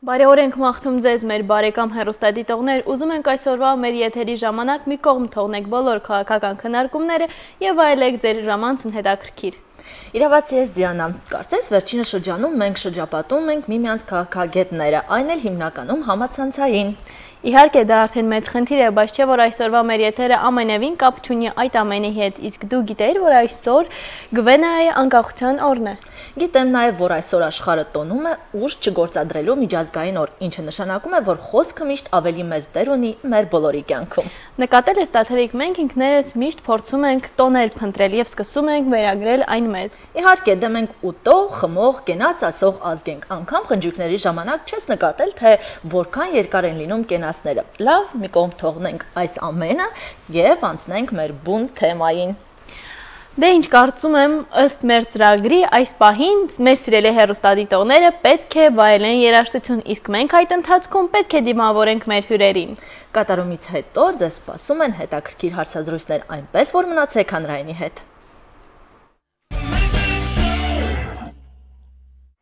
Բարեօր ենք մաղթում ձեզ մեր բարեկամ հեռուստադիտողներ, ուզում ենք այսօրվա մեր եթերի ժամանակ մի կողմ թողնեք բոլոր քաղաքական քննարկումները եւ այլեք ձեր ժամանցն հետաքրքիր։ Իրավացի ես Դիանա, կարծես վերջինը շրջանում մենք շրջապատում ենք միմյանց քաղաքագետները, այն էլ հիմնականում համացանցային։ Իհարկե դա արդեն մեծ խնդիր է, բայց չէ որ այսօրվա մեր եթերը ամենևին կապ չունի այդ ամենի հետ, իսկ դու գիտեիր, որ այսօր Գվենայի անկախության օրն է։ Գիտեմ նաև, որ այսօր աշխարհը տոնում է ուժ չգործադրելու միջազգային օր, ինչը նշանակում է, որ խոսքը միշտ ավելի մեծ դեր ունի մեր բոլորի կյանքում։ Նկատել ես Տաթևիկ, մենք ինքներս միշտ փորձում ենք տոներ փնտրել եւ սկսում ենք վերագրել այն մեզ։ Իհարկե, դե մենք ուտող, խմող, կենաց ասող ազգ ենք, անգամ խնջույքների ժամանակ չես նկատել, թե որքան երկար են լինում կենացները։ Լավ, մի կողմ թողնենք այս ամենը եւ անցնենք մեր բուն թեմային։ Դե ինչ կարծում եմ, ըստ մեր ծրագրի այս պահին մեր սիրելի հեռուստադիտողները պետք է վայելեն երաժշտություն, իսկ մենք այդ ընթացքում պետք է դիմավորենք մեր հյուրերին։ Կատարումից հետո ձեզ սպասում են հետաքրքիր հարցազրույցներ, այնպես որ մնացեք հանրայինի հետ։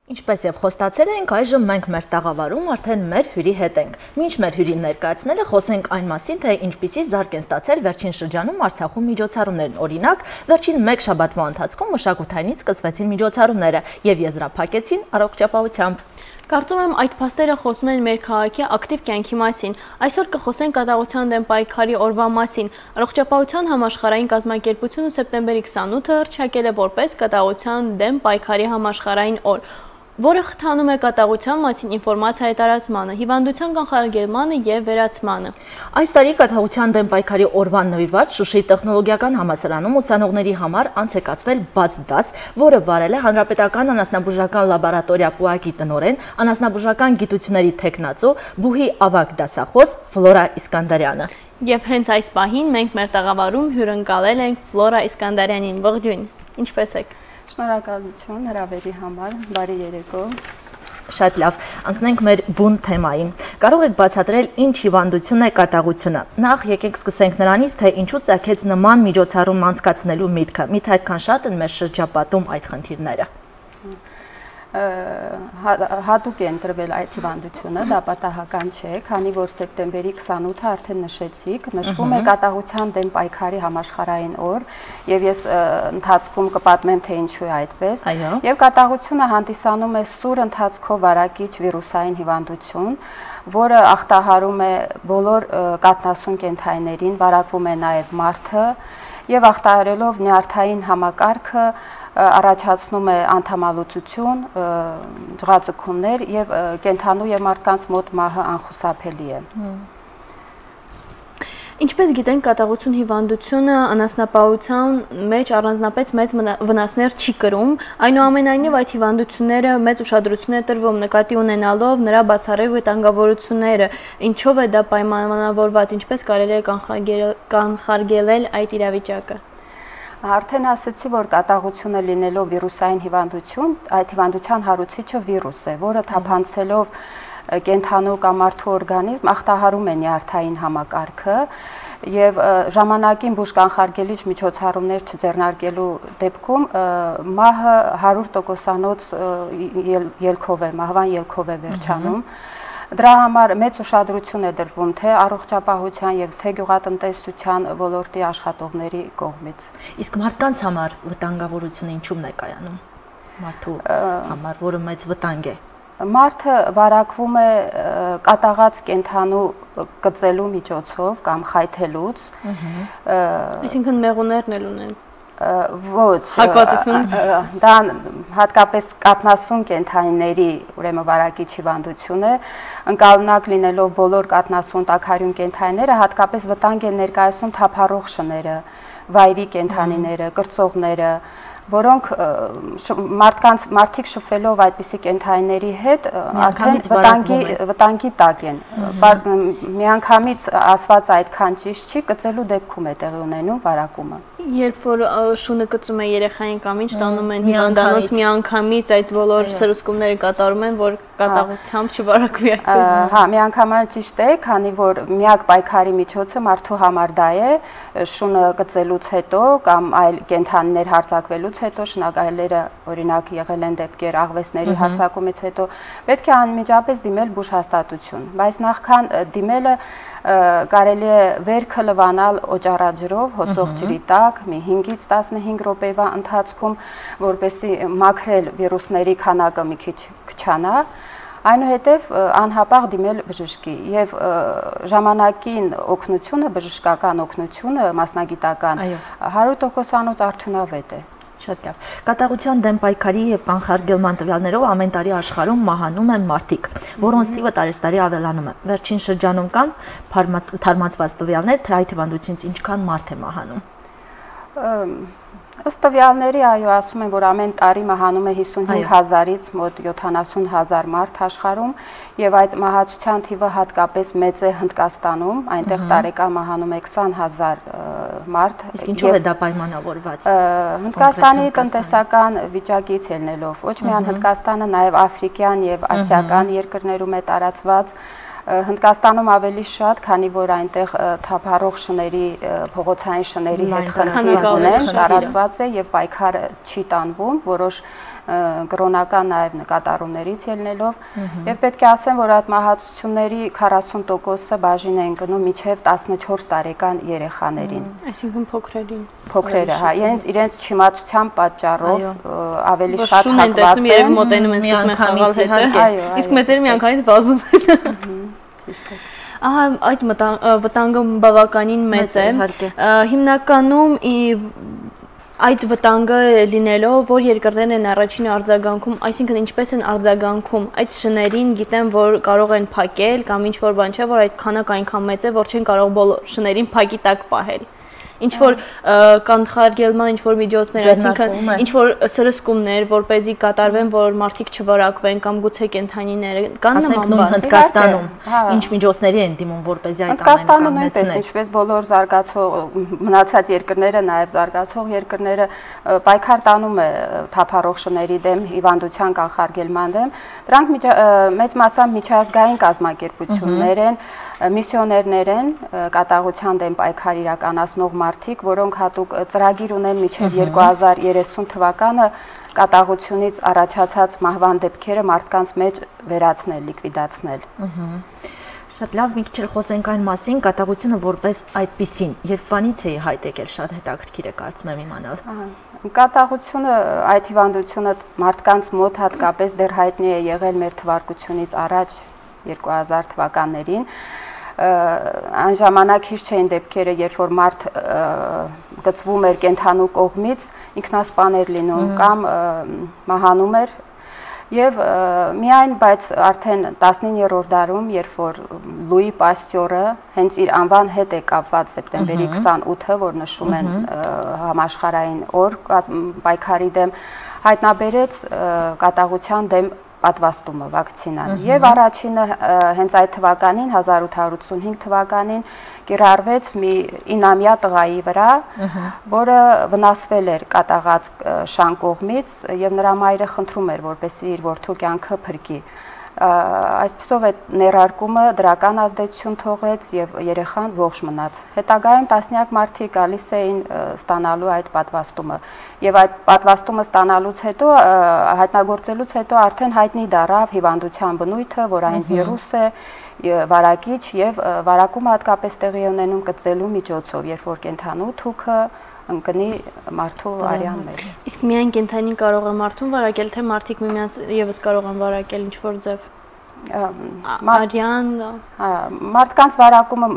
Ինչպես եւ խոստացել ենք, այժմ մենք մեր տաղավարում արդեն մեր հյուրի հետ ենք։ Մինչ մեր հյուրին ներկայացնելը խոսենք այն մասին, թե ինչպիսի զարգ են ստացել վերջին շրջանում Արցախում միջոցառումներն։ Օրինակ, վերջին մեկ շաբաթվա ընթացքում մշակութայինից սկսվեցին միջոցառումները եւ եզրափակեցին առողջապահությամբ։ Կարծում եմ այդ փաստերը խոսում են մեր քաղաքի ակտիվ կյանքի մասին։ Այսօր կխոսենք կատաղության դեմ պայքարի օրվա մասին։ Առողջապահության համաշխարհային կազմակերպությունը սեպտեմբերի 28-ը հռչակել է որպես կատաղության դեմ պայքարի համաշխարհային օր, որը խթանում է կատաղության մասին ինֆորմացիայի տարածմանը, հիվանդության կանխարգելմանը եւ վերացմանը։ Այս տարի կատաղության դեմ պայքարի օրվան նվիրված Շուշիի տեխնոլոգիական համալսարանում ուսանողների համար անց է կացվել բաց դաս, որը վարել է Հանրապետական անասնաբուժական լաբորատորիա ՊՈԱԿ-ի տնօրեն, անասնաբուժական գիտությունների թեկնածու, բուհի ավագ դասախոս Ֆլորա Իսկանդարյանը։ Եվ հենց այս պահին մենք մեր տաղավարում հյուրընկալել ենք Ֆլորա Իսկանդարյանին։ Ողջույն, ինչպե՞ս եք։ Շնորհակալություն հրավերի համար, բարի երեկո։ Շատ լավ, անցնենք մեր բուն թեմային։ Կարող եք բացատրել ինչ հիվանդություն է կատաղությունը։ Նախ եկեք սկսենք նրանից, թե ինչու ծագեց նման միջոցառում անցկացնելու միտքը։ Միթե այդքան շատ են մեր շրջապատում այդ խնդիրները։ Հատուկ է ընտրվել այդ հիվանդությունը, դա պատահական չէ, քանի որ սեպտեմբերի 28-ը արդեն նշեցիք, նշվում է կատաղության դեմ պայքարի համաշխարհային օր, եւ ես ընթացքում կպատմեմ, թե ինչու է այդպես։ Եվ կատաղությունը հանդիսանում է սուր ընթացքով վարակիչ վիրուսային հիվանդություն, որը ախտահարում է բոլոր կաթնասուն կենդանիներին, վարակվում է նաեւ մարդը եւ ախտահարելով նյարդային համակարգը առաջացնում է անդամալուծություն, ջղաձգումներ եւ կենդանու եւ մարդկանց մոտ մահը անխուսափելի է։ Ինչպես գիտենք, կատաղություն հիվանդությունը անասնապահության մեջ առանձնապես մեծ վնասներ չի կրում, այնուամենայնիվ այդ հիվանդությունները մեծ ուշադրություն է տրվում նկատի ունենալով նրա բացառիկ վտանգավորությունները, ինչով է դա պայմանավորված, ինչպես կարելի է կանխարգելել այդ իրավիճակը։ Արդեն ասացի, որ կատաղությունը լինելով վիրուսային հիվանդություն, այդ հիվանդության հարուցիչը վիրուս է, որը թափանցելով կենդանու կամ մարդու օրգանիզմ ախտահարում է նյարդային համակարգը եւ ժամանակին բուժկանխարգելիչ միջոցառումներ չձեռնարկելու դեպքում մահը 100%-անոց ելքով է, մահվան ելքով է վերջանում։ Դրա համար մեծ ուշադրություն է դրվում թե առողջապահության եւ թե գյուղատնտեսության ոլորտի աշխատողների կողմից։ Իսկ մարդկանց համար վտանգավորությունը ինչու՞մն է կայանում։ Մարդու համար, որը մեծ վտանգ է։ Մարդը վարակվում է կատաղած կենդանու կծելու միջոցով կամ խայթելուց։ Այսինքն մեղուներն էլ ունեն։ Ոչ, դա հատկապես կաթնասուն կենդանիների ուրեմն վարակիչ հիվանդություն է, ընկալնակ լինելով բոլոր կաթնասուն տաքարյուն կենդանիները հատկապես վտանգ են ներկայացնում թափառող շները, վայրի կենդանիները, կրծողները, որոնք մարդիկ շփվելով այդպիսի կենդանիների հետ արդեն վտանգի տակ են։ Միանգամից ասված այդքան ճիշտ չի, կծելու դեպքում է տեղի ունենում վարակումը։ Երբ որ շունը կծում է երեխային կամ ինչ տանում են հիվանդանոց միանգամից այդ բոլոր սրսկումները կատարում են, որ կատաղությամբ չվարակվի այդպես։ Հա, միանգամայն ճիշտ է, քանի որ միակ պայքարի միջոցը մարդու համար դա է, շունը կծելուց հետո կամ այլ կենդանիներ հարձակվելուց հարձակումից հետո, շնագայլերը օրինակ եղել են դեպքեր աղվեսների հարձակումից հետո, պետք է անմիջապես դիմել բուժհաստատություն, բայց նախքան դիմելը կարելի է վերքը լվանալ օճառաջրով, հոսող ջրի տակ, մի 5-ից 15 րոպեվա ընթացքում, որպեսզի մաքրել վիրուսների քանակը մի քիչ քչանա, այնուհետև անհապաղ դիմել բժշկի եւ ժամանակին օգնությունը, բժշկական օգնությունը, մասնագիտական 100%-անոց արդյունավետ է։ Շատ լավ։ Կատաղության դեմ պայքարի եւ կանխարգելման տվյալներով ամեն տարի աշխարհում մահանում են մարդիկ, որոնց թիվը տարեստարի ավելանում է։ Վերջին շրջանում կան թարմացված տվյալներ, թե այդ հիվանդությունից ինչքան մարդ է մահանում։ Ըստ տվյալների, այո, ասում են, որ ամեն տարի մահանում է 55,000-ից մոտ 70,000 մարդ աշխարհում, եւ այդ մահացության թիվը հատկապես մեծ է Հնդկաստանում, այնտեղ տարեկան մահանում է 20,000 մարդ։ Իսկ ինչով է դա պայմանավորված։ Հնդկաստանի տնտեսական վիճակից ելնելով, ոչ միայն Հնդկաստանը, նաեւ աֆրիկյան եւ ասիական երկրներում է տարածված։ Հնդկաստանում ավելի շատ, քանի որ այնտեղ թափառող շների, փողոցային շների հետ խնդիրներ են, տարածված է եւ պայքարը չի տանվում, որոշ կրոնական նաեւ նկատառումներից ելնելով, եւ պետք է ասեմ, որ այդ մահացությունների 40%-ը բաժին են գնում միջև 14 տարեկան երեխաներին։ Այսինքն փոքրերին։ Փոքրերը, հա, իրենց չիմացության պատճառով ավելի շատ հակված են։ Երբ մոտենում են սկսում են խաղալ հետը, իսկ մեծերը միանգամից վազում են։ Ահա այդ վտանգը բավականին մեծ է։ Հիմնականում այդ վտանգը լինելով, որ երկրներն են առաջին արձագանքում, այսինքն ինչպես են արձագանքում այդ շներին, գիտեն, որ կարող են փակել կամ ինչ որ բան չէ, որ այդ քանակը այնքան մեծ է, որ չեն կարող բոլոր շներին փակի տակ պահել։ Ինչ որ կանխարգելման ինչ որ միջոցներ, այսինքն ինչ որ սրսկումներ, որպեսզի կատարվեն, որ մարդիկ չվարակվեն կամ գուցե կենդանիները կան նման բան։ Հնդկաստանում ինչ միջոցների են դիմում, որպեսզի այդ ամենը նույնպես, ինչպես բոլոր զարգացող մնացած երկրները, նաև զարգացող երկրները պայքար տանում է թափառող շների դեմ, հիվանդության կանխարգելման դեմ, դրանք մեծ մասամբ միջազգային կազմակերպություններ են, միսիոներներ են, կատաղության դեմ պայքար իրականացնող մարդիկ, որոնք հատուկ ծրագիր ունեն մինչև 2030 թվականը կատաղությունից առաջացած մահվան դեպքերը մարդկանց մեջ վերացնել, լիկվիդացնել։ Շատ լավ, մի քիչ խոսենք այն մասին, կատաղությունը որպես այդպիսին, երբ վանից է հայտ եկել, շատ հետաքրքիր է կարծում եմ իմանալ։ Կատաղությունը, այդ հիվանդությունը մարդկանց մոտ հատկապես դեռ հայտնի է եղել մեր թվարկությունից առաջ 2000 թվականներին, այն ժամանակ հիշ չէին դեպքերը, երբ որ մարդ գծվում էր կենդանու կողմից, ինքնասպան էր լինում կամ մահանում էր եւ միայն բայց արդեն 19-րդ դարում, երբ որ Լուի Պաստյորը հենց իր անվան հետ է կապված սեպտեմբերի 28-ը, որ նշում են համաշխարհային օր պայքարի դեմ, հայտնաբերեց կատաղության դեմ պատվաստումը, վակցինան։ Եվ առաջինը հենց այդ թվականին 1885 թվականին կիրառվեց մի 9-ամյա տղայի վրա, որը վնասվել էր կատաղած շան կողմից եւ նրա մայրը խնդրում էր, որպեսզի իր որդու կյանքը փրկի։ Այսպիսով այդ ներարկումը դրական ազդեցություն թողեց եւ երեխան ողջ մնաց։ Հետագայում տասնյակ մարդիկ գալիս էին ստանալու այդ պատվաստումը եւ այդ պատվաստումը ստանալուց հետո հայտնագործելուց հետո արդեն հայտնի դառավ հիվանդության բնույթը, որ այն վիրուս է, վարակիչ եւ վարակումը հատկապես տեղի ունենում կծելու միջոցով, երբ որ կենդանու թուքը ընկնի մարդու արյան մեջ։ Իսկ միայն կենդանին կարող է մարդուն վարակել, թե մարդիկ միմյանց եւս կարող են վարակել ինչ որ ձև։ Արյան, մարդկանց վարակումը,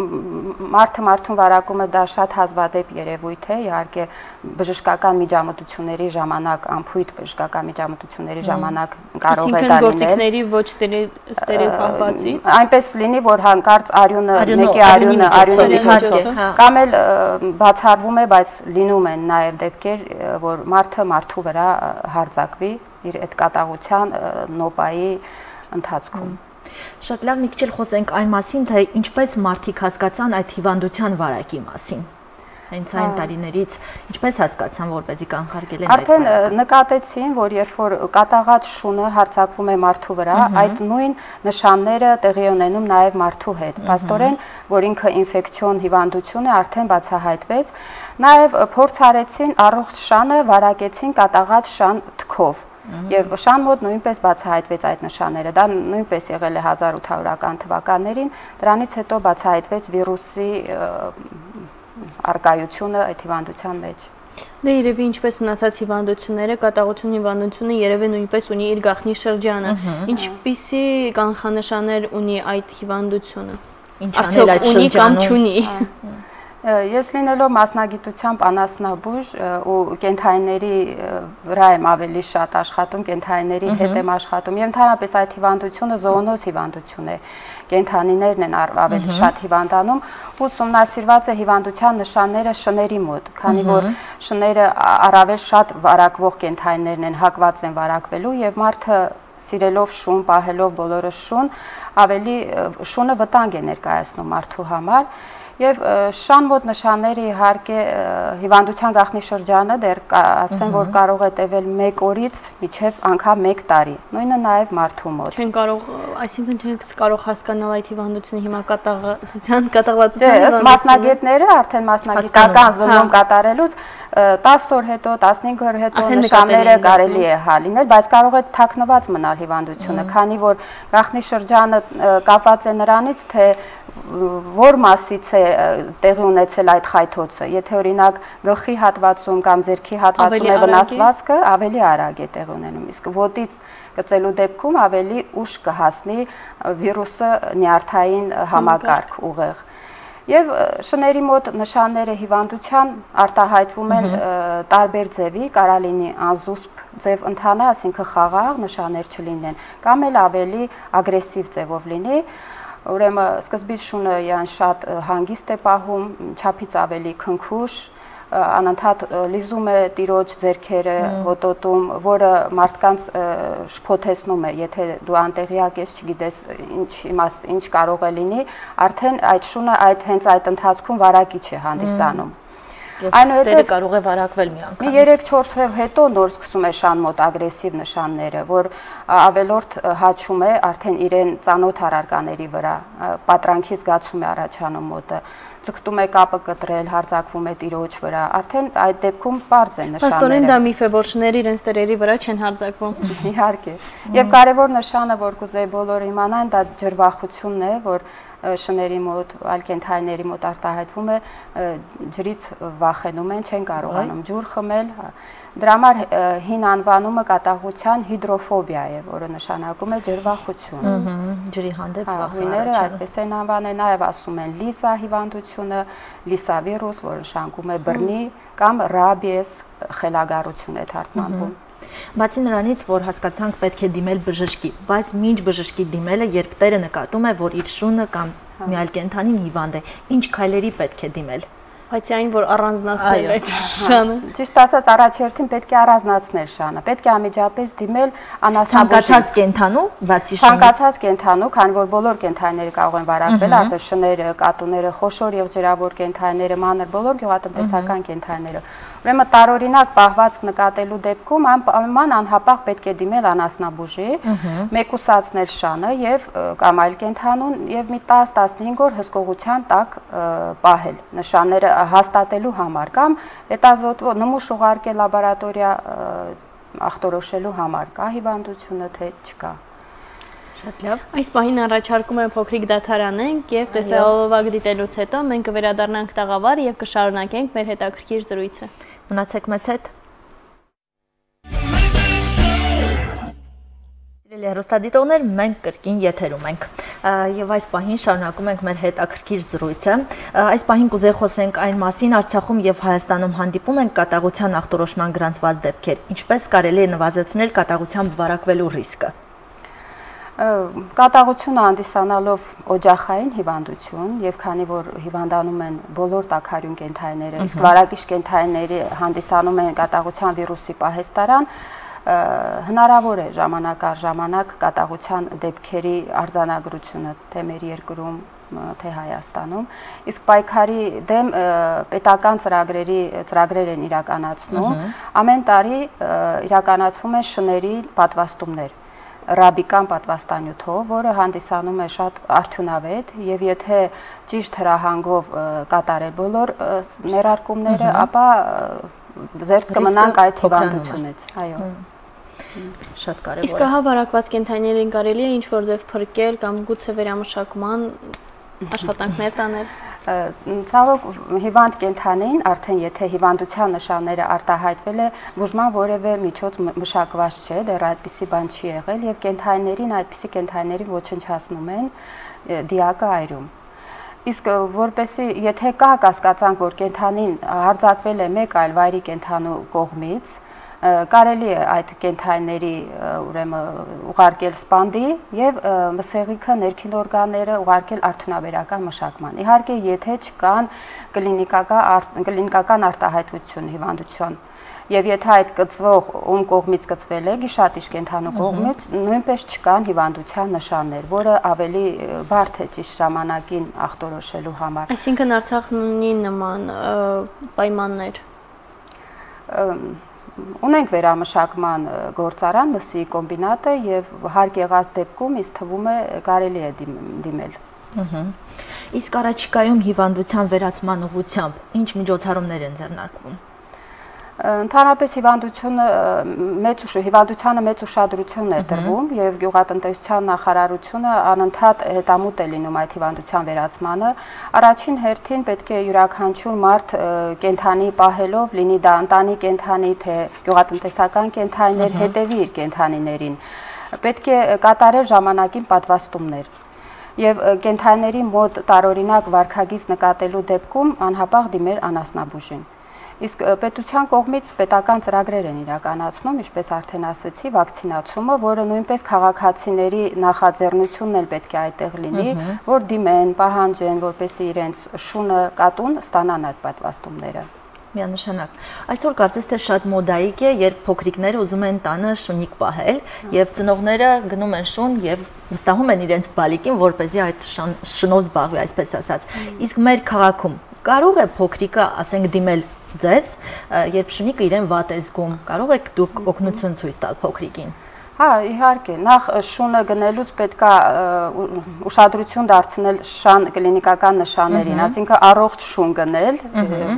մարդը մարդուն վարակումը դա շատ հազվադեպ երևույթ է, իհարկե բժշկական միջամտությունների ժամանակ, անփույթ բժշկական միջամտությունների ժամանակ կարող է դա լինել։ Գործիքների ոչ ստերիլ պահվածից։ Այնպես լինի, որ հանկարծ արյունը, մեկի արյունի միջոցով կամ էլ բացառվում է, բայց լինում են նաև դեպքեր, որ մարդը մարդու վրա հարձակվի իր այդ կատաղության նոպայի ընթացքում։ Շատ լավ, մի քիչ խոսենք այն մասին, թե ինչպես մարդիկ հասկացան այդ հիվանդության վարակի մասին։ հենց այն տարիներից ինչպես հասկացան, որպեսզի կանխարգելեն այդ արդեն նկատեցին, որ երբ որ կատաղած շունը հարձակվում է մարդու վրա, այդ նույն նշանները տեղի ունենում նաև մարդու հետ։ Փաստորեն, որ ինքը ինֆեկցիոն հիվանդություն է, արդեն բացահայտվեց։ Նաև փորձ արեցին առողջ շանը վարակեցին կատաղած շան թքով։ Եվ շան մոտ նույնպես բացահայտվեց այդ նշանները, դա նույնպես եղել է 1800-ական թվականներին, դրանից հետո բացահայտվեց վիրուսի արկայությունը այդ հիվանդության մեջ։ Դե երևի ինչպես մնացած հիվանդությունները, կատաղություն հիվանդությունը երևի նույնպես ունի իր գաղտնի շրջանը։ Ինչպիսի կանխանշաններ ունի այդ հիվանդությունը։ Արդյոք ունի կամ չունի։ Ես լինելով մասնագիտությամբ անասնաբույժ ու կենդանիների վրա եմ ավելի շատ աշխատում, կենդանիների հետ եմ աշխատում, եւ ընդհանրապես այդ հիվանդությունը զոոնոզ հիվանդություն է։ Կենդանիներն են ավելի շատ հիվանդանում, ուսումնասիրված է հիվանդության նշանները շների մոտ, քանի որ շները առավել շատ վարակվող կենդանիներն են, հակված են վարակվելու եւ մարդը սիրելով շուն, պահելով բոլորը շուն, ավելի շունը վտանգ է ներկայացնում մարդու համար։ Եվ շան մոտ նշանները իհարկե հիվանդության գաղտնի շրջանը դեռ ասեմ, որ կարող է տևել 1 օրից մինչև անգամ 1 տարի։ Նույնը նաև մարդու մոտ։ Չեն կարող, այսինքն չենք կարող հասկանալ այդ հիվանդությունը հիմա կատաղվածության մասնագետները արդեն մասնագիտական զննում կատարելուց 10 օր հետո, 15 օր հետո նշանները կարելի է հալինել, բայց կարող է թաքնված մնալ հիվանդությունը, քանի որ գաղտնի շրջանը կապված է նրանից, թե որ մասից է տեղի ունեցել այդ խայթոցը։ Եթե օրինակ գլխի հատվածում կամ ձեռքի հատվածում է վնասվածքը, ավելի արագ է տեղի ունենում, իսկ ոտից գծելու դեպքում ավելի ուշ կհասնի վիրուսը նյարդային համակարգ ուղեղ։ Եվ շների մոտ նշանները հիվանդության արտահայտվում են տարբեր ձևի, կարա լինի անզուսպ ձև ընթանա, այսինքն խաղաղ նշաններ չլինեն, կամ էլ ավելի ագրեսիվ ձևով լինի, ուրեմն սկզբից շունը յան շատ հանգիստ է պահում, չափից ավելի քնքուշ, անընդհատ լիզում է տիրոջ ձեռքերը, հոտոտում, որը մարդկանց շփոթեցնում է, եթե դու անտեղյակ ես, չգիտես ինչ կարող է լինի, արդեն այդ շունը հենց այդ ընթացքում վարակիչ է հանդիսանում։ Այնուհետև կարող է վարակվել մի անգամ։ 3-4 օր հետո նոր սկսում է շան մոտ ագրեսիվ նշանները, որ ավելորդ հաչում է արդեն իրեն ծանոթ առարկաների վրա, պատրանքի զգացում է առաջանում մոտը, ձգտում է կապը կտրել, հարձակվում է տիրոջ վրա, արդեն այդ դեպքում պարզ են նշանները։ Փաստորեն դա միֆ է, որ շները իրենց տերերի վրա չեն հարձակվում։ Իհարկե։ Եվ կարևոր նշանը, որ կուզեի բոլորը իմանան, դա ջրվախությունն է, որ շների մոտ, այլ կենդանիների մոտ արտահայտվում է, ջրից վախենում են, չեն կարողանում ջուր խմել։ Դրա համար հին անվանումը կատաղության հիդրոֆոբիա է, որը նշանակում է ջրվախություն։ Ջրի հանդեպ վախը։ Հույները այդպես են անվանել, նաև ասում են լիսա հիվանդությունը, լիսավիրուս, որը նշանակում է բռնի կամ ռաբիես խելագարություն է թարգմանվում։ Բացի նրանից, որ հասկացանք պետք է դիմել բժշկի, բայց մինչ բժշկի դիմելը, երբ տերը նկատում է, որ իր շունը կամ մի այլ կենդանին հիվանդ է, ինչ քայլերի պետք է դիմել։ Բայց այն, որ առանձնացնել այդ շանը։ Ճիշտ ասած, առաջերտին պետք է առանձնացնել շանը, պետք է անմիջապես դիմել անասնաբուժի։ Ցանկացած կենդանու, բացի շնից։ Ցանկացած կենդանու, քանի որ բոլոր կենդանիները կարող են վարակվել, արդեն շները, կատուները, խոշոր եղջերավոր կենդանիները, մանր, բոլոր գյուղատնտեսական կենդանիները։ Ուրեմն տարօրինակ պահվածք նկատելու դեպքում անպայման անհապաղ պետք է դիմել անասնաբուժի, մեկուսացնել շանը եւ կամ այլ կենդանուն եւ մի 10-15 օր հսկողության տակ պահել նշանները հաստատելու համար կամ հետազոտվող նմուշ ուղարկել լաբորատորիա ախտորոշելու համար, կա հիվանդությունը թե չկա։ Շատ լավ։ Այս պահին առաջարկում եմ փոքրիկ դադարանենք եւ տեսահոլովակ դիտելուց հետո մենք կվերադառնանք տաղավար եւ կշարունակենք մեր հետաքրքիր զրույցը։ Մնացեք մեզ հետ։ Սիրելի հեռուստադիտողներ, մենք կրկին եթերում ենք եւ այս պահին շարունակում ենք մեր հետաքրքիր զրույցը։ Այս պահին կուզեի խոսենք այն մասին, Արցախում եւ Հայաստանում հանդիպում են կատաղության ախտորոշման գրանցված դեպքեր, ինչպես կարելի է նվազեցնել կատաղությամբ վարակվելու ռիսկը։ Կատաղությունը հանդիսանալով օջախային հիվանդություն եւ քանի որ հիվանդանում են բոլոր տաքարյուն կենդանիները, իսկ վարակիչ կենդանիները հանդիսանում են կատաղության վիրուսի պահեստարան, հնարավոր է ժամանակ առ ժամանակ կատաղության դեպքերի արձանագրությունը թե մեր երկրում, թե Հայաստանում, իսկ պայքարի դեմ պետական ծրագրեր են իրականացնում, ամեն տարի իրականացվում են շների պատվաստումներ, ռաբիկան պատվաստանյութով, որը հանդիսանում է շատ արդյունավետ եւ եթե ճիշտ հրահանգով կատարել բոլոր ներարկումները, ապա զերծ կմնանք այդ հիվանդությունից, այո։ Շատ կարևոր է։ Իսկ հա վարակված կենդանիներին կարելի է ինչ-որ ձև փրկել կամ գուցե վերամշակման աշխատանքներ տանել։ Ցավոք հիվանդ կենդանին արդեն եթե հիվանդության նշանները արտահայտվել է, բուժման որևէ միջոց մշակված չէ, դեռ այդպիսի բան չի եղել եւ կենդանիներին այդպիսի կենդանիներին ոչնչացնում են դիակը այրում։ Իսկ որպեսի եթե կա կասկածանք, որ կենդանին հարձակվել է մեկ այլ վայրի կենդանու կողմից, կարելի է այդ կենդանիների ուրեմն ուղարկել սպանդի եւ մսեղիքը ներքին օրգանները ուղարկել արդյունաբերական մշակման։ Իհարկե, եթե չկան կլինիկական արտահայտություն հիվանդության եւ եթե այդ կծվող ում կողմից կծվել է, գիշատիչ կենդանու կողմից, նույնպես չկան հիվանդության նշաններ, որը ավելի բարդ է ճիշտ ժամանակին ախտորոշելու համար։ Այսինքն Արցախն ունի նման պայմաններ։ Ունենք վերամշակման գործարան, մսի կոմբինատը եւ հարկ եղած դեպքում ինձ թվում է կարելի է դիմել։ Իսկ առաջիկայում հիվանդության վերացման ուղղությամբ ինչ միջոցառումներ են ձեռնարկվում։ Ընդհանրապես հիվանդությանը մեծ ուշադրություն է տրվում եւ գյուղատնտեսության նախարարությունը անընդհատ հետամուտ է լինում այդ հիվանդության վերացմանը։ Առաջին հերթին պետք է յուրաքանչյուր մարդ կենդանի պահելով, լինի դա ընտանի կենդանի, թե գյուղատնտեսական կենդանիներ, հետևի իր կենդանիներին։ Պետք է կատարել ժամանակին պատվաստումներ։ Եվ կենդանիների մոտ տարօրինակ վարքագիծ նկատելու դեպքում անհապաղ դիմել անասնաբուժին։ Իսկ պետության կողմից պետական ծրագրեր են իրականացնում, ինչպես արդեն ասեցի, վակցինացումը, որը նույնպես քաղաքացիների նախաձեռնությունն էլ պետք է այդտեղ լինի, որ դիմեն, պահանջեն, որպեսզի իրենց շունը կատուն ստանան այդ պատվաստումները։ Միանշանակ։ Այսօր կարծես թե շատ մոդայիկ է, երբ փոքրիկները ուզում են տանը շունիկ պահել եւ ծնողները գնում են շուն եւ վստահում են իրենց բալիկին, որպեսզի այդ շնով զբաղվի, այսպես ասած։ Իսկ մեր քաղաքում կարող է փոքրիկը, ասենք, դիմել ձեզ, երբ շունիկը իրեն վատ է զգում, կարող եք դուք օգնություն ցույց տալ փոքրիկին։ Հա, իհարկե, նախ շունը գնելուց պետքա ուշադրություն դարձնել շան կլինիկական նշաններին, ասինքն առողջ շուն գնել,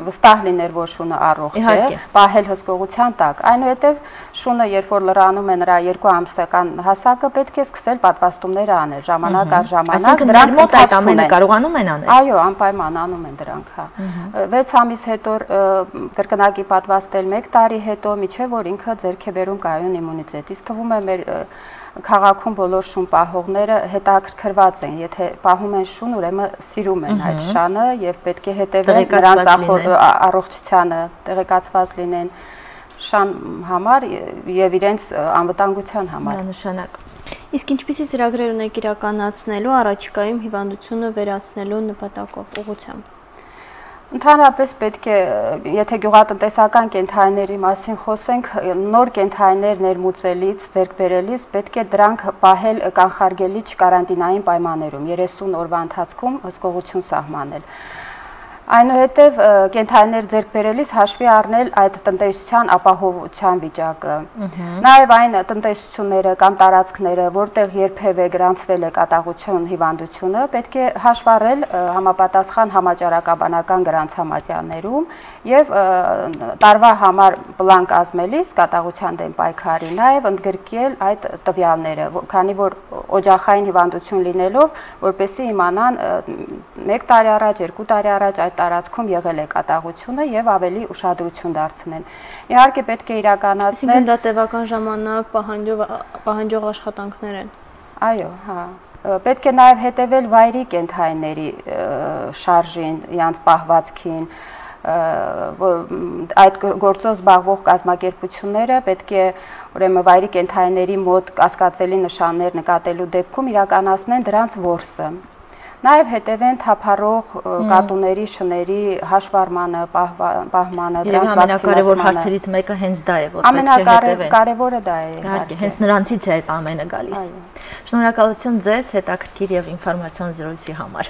վստահ լինել, որ շունը առողջ է, պահել հսկողության տակ։ Այնուհետև շունը, երբ որ լրանում է նրա 2 ամսական հասակը, պետք է սկսել պատվաստումներ անել, ժամանակ առ ժամանակ, դրանք մոտ այդ ամենը կարողանում են անել։ Այո, անպայման անում են դրանք, հա։ 6 ամիս հետո կրկնակի պատվաստել, 1 տարի հետո, միջև որ ինքը ձեռք է բերում կայուն իմունիտետ։ Իսկ թվում է մեր քաղաքում բոլոր շուն պահողները հետաքրքրված են, եթե պահում են շուն, ուրեմն սիրում են այդ շանը եւ պետք է հետեւեն նրանց առողջությանը, տեղեկացված լինեն շան համար եւ իրենց անվտանգության համար։ Միանշանակ։ Իսկ ինչպիսի ծրագրեր ունեք իրականացնելու առաջիկայում հիվանդությունը վերացնելու նպատակով, ուղղությամբ։ Ընդհանրապես պետք է, եթե գյուղատնտեսական կենդանիների մասին խոսենք, նոր կենդանիներ ներմուծելից, ձեռք բերելիս պետք է դրանք պահել կանխարգելիչ կարանտինային պայմաններում, 30 օրվա ընթացքում հսկողություն սահմանել։ Այնուհետև կենդանիներ ձեռք բերելիս հաշվի առնել այդ տնտեսության ապահովության վիճակը։ Նաև այն տնտեսությունները կամ տարածքները, որտեղ երբևէ գրանցվել է կատաղություն հիվանդությունը, պետք է հաշվառել համապատասխան համաճարակաբանական գրանցամատյաններում եւ տարվա համար պլան կազմելիս կատաղության դեմ պայքարի նաև ընդգրկել այդ տվյալները, քանի որ օջախային հիվանդություն լինելով, որպեսզի իմանան 1 տարի առաջ, 2 տարի առաջ այդ տարածքում եղել է կատաղությունը եւ ավելի ուշադրություն դարձնեն։ Իհարկե պետք է իրականացնել։ Այսինքն դա տևական ժամանակ պահանջող աշխատանքներ են։ Այո, հա։ Պետք է նաև հետևել վայրի կենդանիների շարժին, իրանց պահվածքին, այդ գործով զբաղվող կազմակերպությունները պետք է ուրեմն վայրի կենդանիների մոտ կասկածելի նշաններ նկատելու դեպքում իրականացնեն դրանց որսը։ Նաև հետևեն թափառող կատուների, շների հաշվառմանը, պահմանը, դրանց վակցինացմանը։ Ամենակարևոր հարցերից մեկը հենց դա է, որ պետք է հետևեն։ Ամենակարևորը դա է։ Իհարկե, հենց նրանցից է այդ ամենը գալիս։ Շնորհակալություն ձեզ հետաքրքիր եւ ինֆորմացիոն զրույցի համար։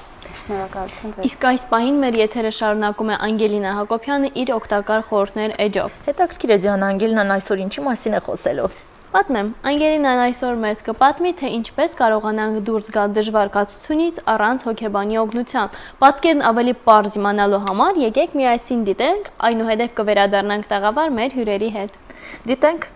Շնորհակալություն ձեզ։ Իսկ այս պահին մեր եթերը շարունակում է Անգելինա Հակոբյանը իր օգտակար խորհուրդներ էջով։ Հետաքրքիր է Դիանա, Անգելինան այսօր ինչի մասին է խոսելու։ Պատմեմ, Անգելինան այսօր մեզ կպատմի, թե ինչպես կարողանանք դուրս գալ դժվար կացությունից առանց հոգեբանի օգնության։ Պատկերն ավելի պարզ իմանալու համար եկեք միասին դիտենք, այնուհետև կվերադառնանք տաղավար մեր հյուրերի հետ։ Դիտենք։